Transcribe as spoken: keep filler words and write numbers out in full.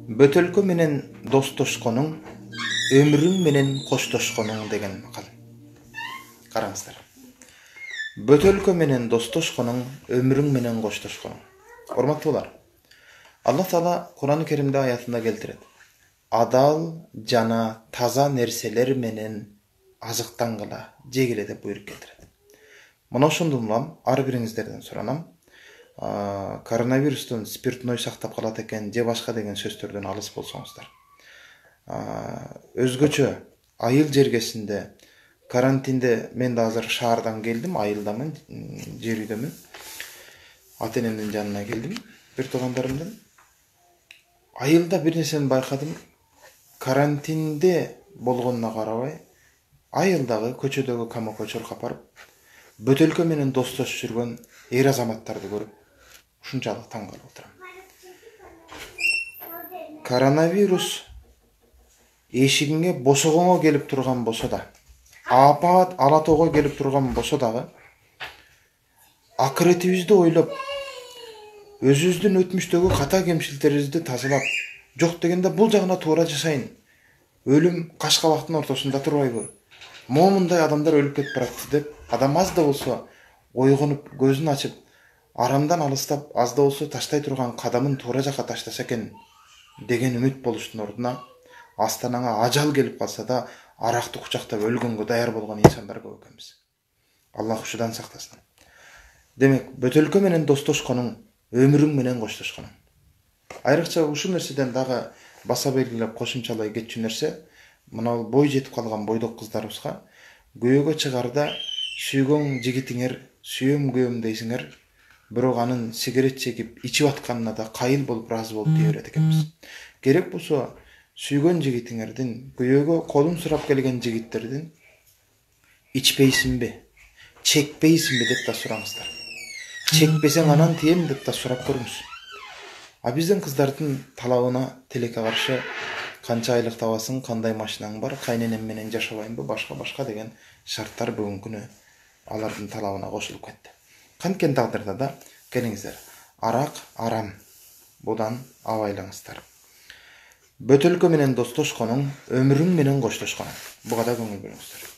Бөтөлкө менен достошконуң, өмүрүң менен коштошконуң деген макал. Караңыздар. Бөтөлкө менен достошконуң, өмүрүң менен коштошконуң. Урматтуулар, Аллах Таала Кур'ан-ы Керимде аятында келтирет. Адал жана таза нерселер менен азыктангыла, жегиле деп буйрук келтирет. Мына ошондон улам ар бириңиздерден суранам. Коронавирустан спиртной сактап калат экен, же башка деген сөздөрдөн алыс болсоңуздар. Өзгөчө айыл жергесинде карантинде мен да азыр шаардан келдим, айылдамын, жер үйдөмүн. Ата энемдин жанына келдим, бир туугандарымдын. Айылда бир нерсени байкадым. Карантинде болгонуна карабай, айылдагы көчөдөгү камакочор капарып, бөтөлкө менен достошуп жүргөн эр азаматтарды көрүп, ушунчалык таң калып отурам. Коронавирус эшигиңе босогоңо келип турган болсо да, апат алатоого келип турган болсо дагы, акыретибизди ойлоп, өзүбүздүн өтмүштөгү ката кемчиликтерибизди тазалап, жок дегенде бул жагына туура жасайын. Өлүм каш кабактын ортосунда турбайбы? Момундай адамдар өлүп кетип баратты деп, адам аз да болсо ойгонуп, көзүн ачып, арамдан алыстап, аз да болсо таштай турган кадамын туура жакка таштаса экен деген үмүт болуштун ордуна, астанаңа ажал келип калса да, аракты кучактап өлгөнгө даяр болгон инсандар көп экенбиз. Аллах ушудан сактасын. Демек, бөтөлкө менен достошконуң, өмүрүң менен коштошконуң. Айрыкча ушул нерседен дагы баса белгилеп кошумчалай кетчү нерсе, мына бой жетип калган бойдок кыздарыбызга күйөөгө чыгарда сүйгөн жигитиңер, сүйөм күйөөм дейсиңер, бирок анын сигарет чегип ичип атканына да кайыл болуп ыраазы болуп дей берет экенбиз. Керек болсо сүйгөн жигитиңердин, күйөөгө колун сурап келген жигиттердин ичпейсиңби, чекпейсиңби деп да сураңыздар. Чекпесең анан тием деп да сурап көрүңүз. А биздин кыздардын талабына тилекке каршы канча айлык табасың, кандай машинаң бар, кайненем менен жашабайынбы, башка-башка деген шарттар бүгүнкү күнү алардын талабына кошулуп кетти. Канткен тагдырда да келиңиздер, арак арам, будан абайлаңыздар. Бөтөлкө менен достошконуң, өмүрүң менен коштошконуң. Буга да көңүл бөлүңүздөр.